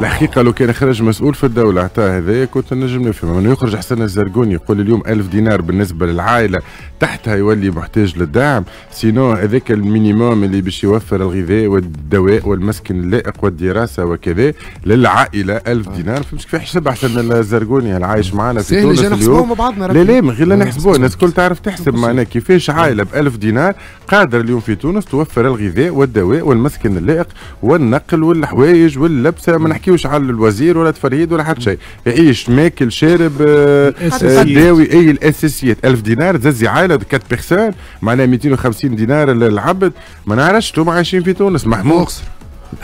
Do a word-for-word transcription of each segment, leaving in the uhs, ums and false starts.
الحقيقة لو كان خرج مسؤول في الدولة عطاه هذايا كنت نجم نفهم، انه يخرج حسن الزرقوني يقول اليوم ألف دينار بالنسبة للعائلة تحتها يولي محتاج للدعم، sinon هذاك ال minimum اللي باش يوفر الغذاء والدواء والمسكن اللائق والدراسة وكذا للعائلة ألف دينار. فهمت كيفاش حسب حسن الزرقوني العايش معنا في تونس اليوم؟ لا لا من غير لا نحسبوه، الناس الكل تعرف تحسب معناها كيفاش عائلة ب ألف دينار قادر اليوم في تونس توفر الغذاء والدواء والمسكن اللائق والنقل والحوايج واللبسه. ما نحكيوش على الوزير ولا تفرهيد ولا حتى شيء، يعيش ماكل شارب آه، داوي، اي الاساسيات. ألف دينار تزي عائلة quatre personnes معناها مئتين وخمسين دينار للعبد. ما نعرفش انتم عايشين في تونس محمود.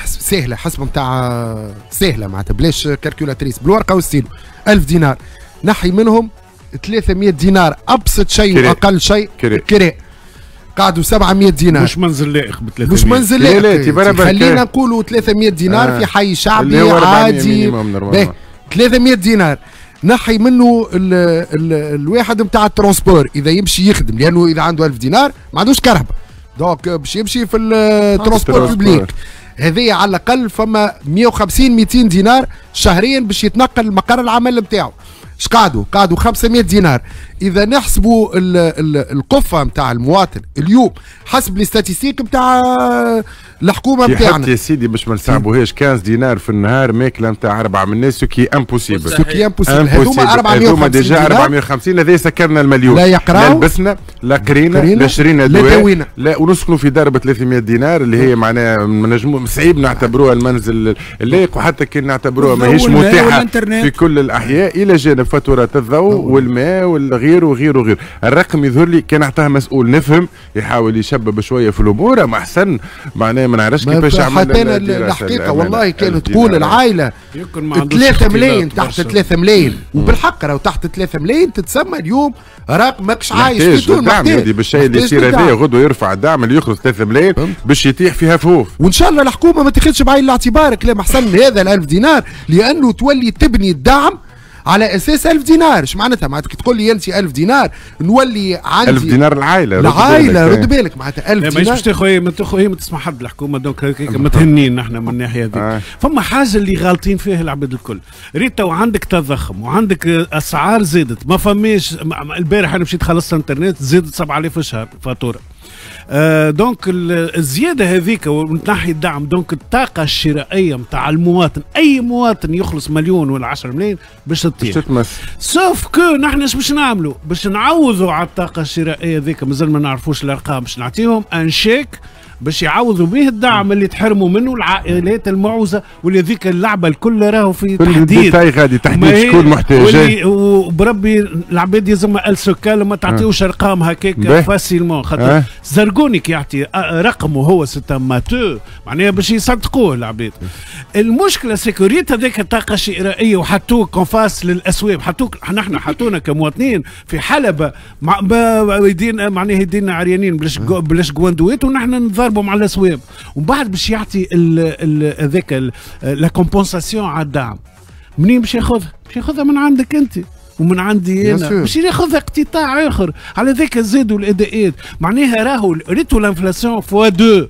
سهلة حسب نتاع سهلة معناتها بلاش calculatrice بالورقة والستيلو. ألف دينار نحي منهم ثلاثمية دينار ابسط شيء واقل شيء كراء، قعدوا سبعمية دينار. مش منزل لائق ب ثلاثمية، مش منزل لائق، خلينا نقولوا ثلاثمية دينار آه. في حي شعبي عادي ثلاثمية دينار نحي منه ال ال الواحد نتاع ال transport اذا يمشي يخدم، لانه اذا عنده ألف دينار ما عندوش كرهبه، donc باش يمشي في ال transport public هذه على الاقل فما مية وخمسين مئتين دينار شهريا باش يتنقل لمقر العمل نتاعو. اش قعدوا؟ قعدوا خمسمية دينار. اذا نحسبوا القفه نتاع المواطن اليوم حسب les statistiques نتاع الحكومة نتاعنا يا سيدي باش ما نصعبوهاش، خمسطاش دينار في النهار ماكله نتاع اربعة من الناس ce qui est impossible، ce qui est impossible. هذوما أربعمية وخمسين déjà أربعمية وخمسين هذا سكرنا المليون، لا يقراو لا لبسنا لا قرينا لا شرينا دواء لا ونسكنوا في دار ب ثلاثمية دينار اللي هي معناها ما صعيب نعتبروها المنزل اللائق، وحتى كي نعتبروها ماهيش متاحة في كل الاحياء، الى جانب فاتورات الضوء والماء والغير وغير وغير. الرقم يظهر لي كان اعطاه مسؤول نفهم يحاول يشبب شوية في الامور، اما احسن معناها ما نعرفش كيفاش عمل. حتى انا الحقيقة والله كانت تقول العائلة ثلاثة ملايين تحت ثلاثة ملايين، وبالحق راهو تحت ثلاثة ملايين تتسمى اليوم راك ماكش عايش في تونس. الدعم هذه بالشيء اللي يصير هذا غدوه يرفع الدعم اللي يخلص ثلاثة ملايين باش يطيح فيها فوف. وان شاء الله الحكومة ما تاخذش بعين الاعتبار كلام حسن هذا الألف دينار، لانه تولي تبني الدعم على اساس ألف دينار. اش معناتها؟ معناتها كي تقول لي انت ألف دينار نولي عندي ألف دينار العائلة، العائلة رد بالك معناتها ألف دينار مش تاخذ ما تاخذ ما تسمع حد الحكومة، donc هكاك متهنين نحن من الناحية هذيك. آه. فما حاجة اللي غالطين فيها العباد الكل، ريت تو عندك تضخم وعندك اسعار زادت، ما فماش. البارح انا مشيت خلصت انترنت زادت سبعة آلاف في الشهر فاتورة. آه donc الزيادة هذيك ونحي الدعم، donc الطاقة الشرائية نتاع المواطن، اي مواطن يخلص مليون ولا عشرة ملايين باش تطيح. sauf que نحن اش باش نعملوا؟ باش نعوضوا على الطاقة الشرائية هذيك، مازال ما نعرفوش الارقام، باش نعطيهم un chèque باش يعوضوا به الدعم اللي تحرموا منه العائلات المعوزه، واللي ذيك اللعبة الكل راهو في تحديد غادي تحديد شكون محتاج. وبربي العباد يلزم السكال ما تعطيوش ارقام هكاك facilement، خاطر زرقوني كي يعطي رقمه هو c'est un matheux معناها باش يصدقوه العباد. المشكلة c'est que ريت هذاك الطاقة الشرائية وحطوك en face للاسواق، حطوك نحن حطونا كمواطنين في حلبة مع يدين معناها يدينا عريانين بلاش بلاش جواندويت ونحن نضربوا مع الاسواق، ومن بعد باش يعطي هذاك la compensation على الدعم. منين باش ياخذها؟ باش ياخذها من عندك انت ومن عندي انا، باش ياخذ اقتطاع اخر. على ذاك زادوا الاداءات، معناها راهو ريتو l'inflation fois deux،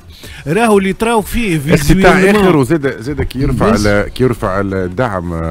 راهو اللي تراو فيه اقتطاع اخر. وزاد زاد كي يرفع كي يرفع الدعم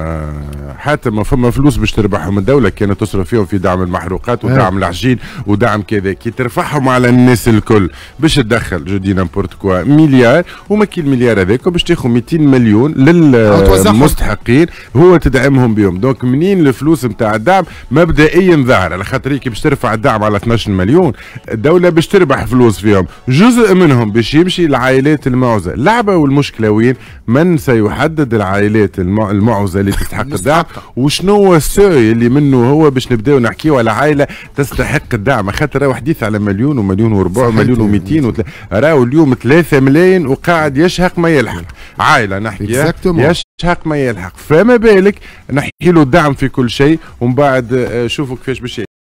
حتى ما فما فلوس باش تربحهم الدولة كانت تصرف فيهم في دعم المحروقات ودعم العجين ودعم كذا، كي ترفعهم على الناس الكل باش تدخل je dis n'importe quoi مليار، وما كي المليار هذاك باش تاخذ مئتين مليون للمستحقين هو تدعمهم بهم. donc منين الفلوس نتاع الدعم مبدئيا ظاهر على خاطر كي باش ترفع الدعم على اثناش مليون الدولة باش تربح فلوس فيهم، جزء منهم باش يمشي للعائلات المعوزه. اللعبة والمشكلة وين؟ من سيحدد العائلات المعوزه اللي تستحق الدعم، وشنو هو ال seuil اللي منه هو باش نبداو نحكيو على عائلة تستحق الدعم؟ خاطر راهو حديث على مليون ومليون وربع ومليون ومئتين وتل... راهو اليوم ثلاثة ملايين وقاعد يشهق ما يلحق عائلة نحكي يشهق ما يلحق، فما بالك نحكي له الدعم في كل شيء ومن بعد شوفوا كيفاش باش